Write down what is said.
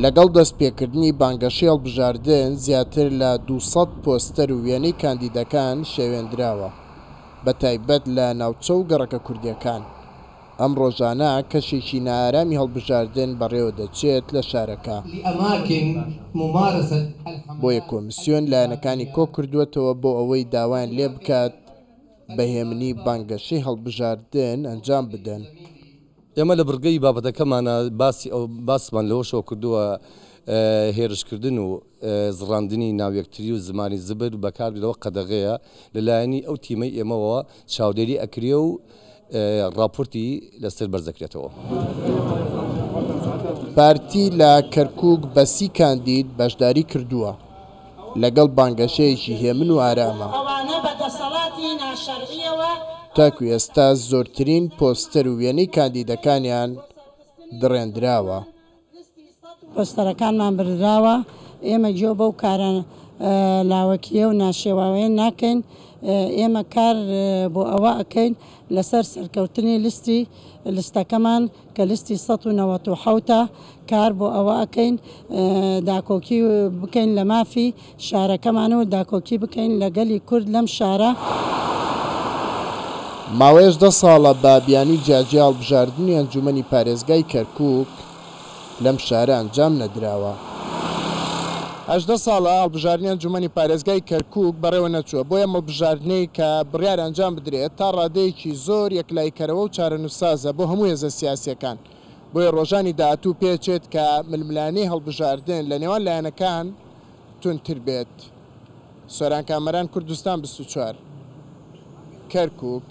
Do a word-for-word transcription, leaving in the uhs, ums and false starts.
لەگەڵ دەستپێکردنی بانگەشەی هەڵبژاردن زیاتر لە دوو سەد پۆستەر و وێنەی کاندیدەکان شێوێندراوە، بە تایبەت لە ناوچە و گەڕەکە کوردیەکان. ئەم ڕۆژانە کەشێکی نائارامی هەڵبژاردن بەڕێوە دەچێت لە شارەکە. بۆیە کۆمیسیۆن لایەنەکانی کۆ کردووەتەوە بۆ ئەوەی داوایان لێ بکات بە هێمنی بانگەشەی هەڵبژاردن ئەنجام بدەن. ئێمە لە بڕگەی بابەتەکەمانە باسی ئەو باسمان لەوەشەوە کردووە هێرشکردن و زڕاندنی ناویەکتری و زمانی زبر بەکاربردنەوە قەدەغەیە لەلایەنی ئەو تیمەی ئێمەوە چاودێری ئەکرێ و راپۆرتی لەسەر بەرزەکرێتەوە. پارتی لە کەرکووک بە سی کاندید بەشداری کردووە لەگەڵ بانگەشەیەکی هێمن و ئارامە. تاکو ئێستا زۆرترین پۆستەر و وێنەی کاندیدەکانیان دڕێندراوە. پۆستەرەکانمان بردراوە، ئێمە گوێ بەو کارە لاوەکیە و ناشێواوەیە ناکەین. ئێمە کار بۆ ئەوە ئەکەین لەسەر سەرکەوتنی لیستی لیستەکەمان کە لیستی سەد و نەوەت و حەوتە، کار بۆ ئەوە ئەکەین داکۆکی بکەین لە مافی شارەکەمان و داکۆکی بکەین لە گەلی کورد لەم شارە. ماوەیەش دە ساڵە بە بیانووی جیاجیا هەڵبژاردنی ئەنجومەنی پارێزگای کەرکووک لەم شارە ئەنجام نەدراوە. هەژدە ساڵە هەڵبژاردنی ئەنجومەنی پارێزگای کەرکووک بەڕێوە نەچووە، بۆیە هەڵبژاردنەی کە بڕیار ئەنجام بدرێت تا ڕادەیەکی زۆر یەکلاییکەرەوە و چارەنووسسازە بۆ هەموو هێزە سیاسیەکان. بۆیە ڕۆژانی داهاتوو پێچێت کە ململانێی هەڵبژاردن لە نێوان لایەنەکان توندتر بێت. سۆران کامەران، کوردستان بیست و چوار، کەرکووک.